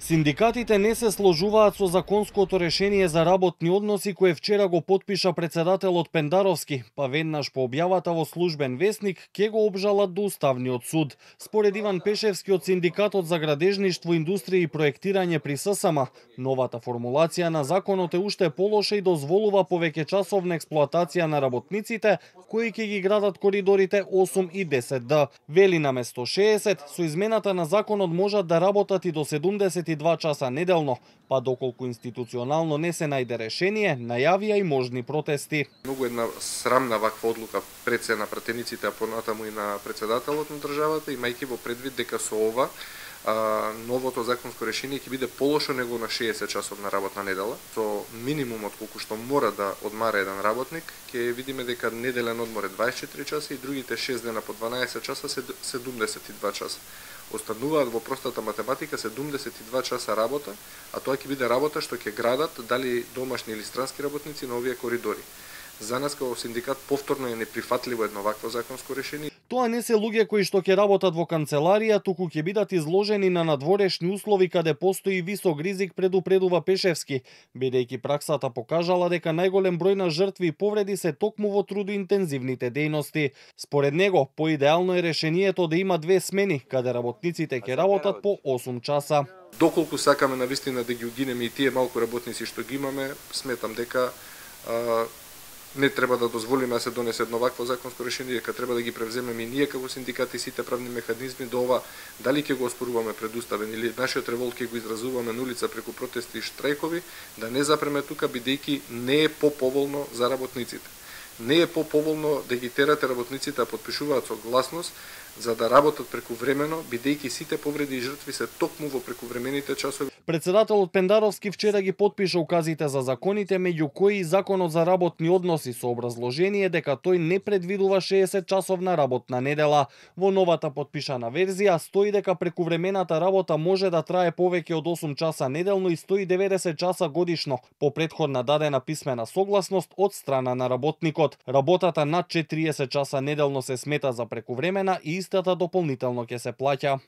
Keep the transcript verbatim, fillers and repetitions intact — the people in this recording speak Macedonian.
Синдикатите не се сложуваат со законското решение за работни односи кое вчера го потпиша председателот Пендаровски, па веднаш по објавата во службен весник ќе го обжалат до Уставниот суд. Според Иван Пешевски од Синдикатот за градежништво, индустрија и проектирање при ССМ, новата формулација на законот е уште полоша и дозволува повеќе часовна експлоатација на работниците кои ќе ги градат коридорите осум и десет Д. Вели наместо шеесет, со измената на законот можат да работат и до седумдесет и два часа неделно, па доколку институционално не се најде решение, најавија и можни протести. Многу една срамна ваква одлука пред се на пратениците, а понатаму и на председателот на државата, имајќи во предвид дека со ова а, новото законско решение ќе биде полошо него на шеесет часовна работна недела. Со минимумот колку што мора да одмара еден работник, ќе видиме дека неделен одмор е дваесет и четири часа и другите шест дена по дванаесет часа се седумдесет и два часа. Остануваат во простата математика седумдесет и два часа работа, а тоа ќе биде работа што ќе градат дали домашни или странски работници на овие коридори. За нас како синдикат повторно е неприфатливо едно вакво законско решение. Тоа не се луѓе кои што ќе работат во канцеларија, туку ќе бидат изложени на надворешни услови каде постои висок ризик, предупредува Пешевски, бидејќи праксата покажала дека најголем број на жртви и повреди се токму во трудоинтензивните дејности. Според него, поидеално е решението да има две смени, каде работниците ќе работат по осум часа. Доколку сакаме навистина да ги угинеме и тие малку работници што ги имаме, сметам дека а, не треба да дозволиме да се донесе едно вакво законско решение, дека треба да ги превземеме и ние како синдикати сите правни механизми до ова, дали ќе го оспоруваме пред уставен или нашиот револт ќе го изразуваме на улица преку протести и штрајкови, да не запреме тука бидејќи не е поповолно за работниците. Не е поповолно да ги терате работниците да потпишуваат согласност за да работат прекувремено, бидејќи сите повреди и жртви се токму во прекувремените часови. Председателот Пендаровски вчера ги потпиша указите за законите, меѓу кои и законот за работни односи, со образложение дека тој не предвидува шеесет часовна работна недела. Во новата потпишана верзија стои дека прекувремената работа може да трае повеќе од осум часа неделно и сто и деветдесет часа годишно, по претходна дадена писмена согласност од страна на работникот. Работата над четириесет часа неделно се смета за прекувремена и истата дополнително ќе се плаќа.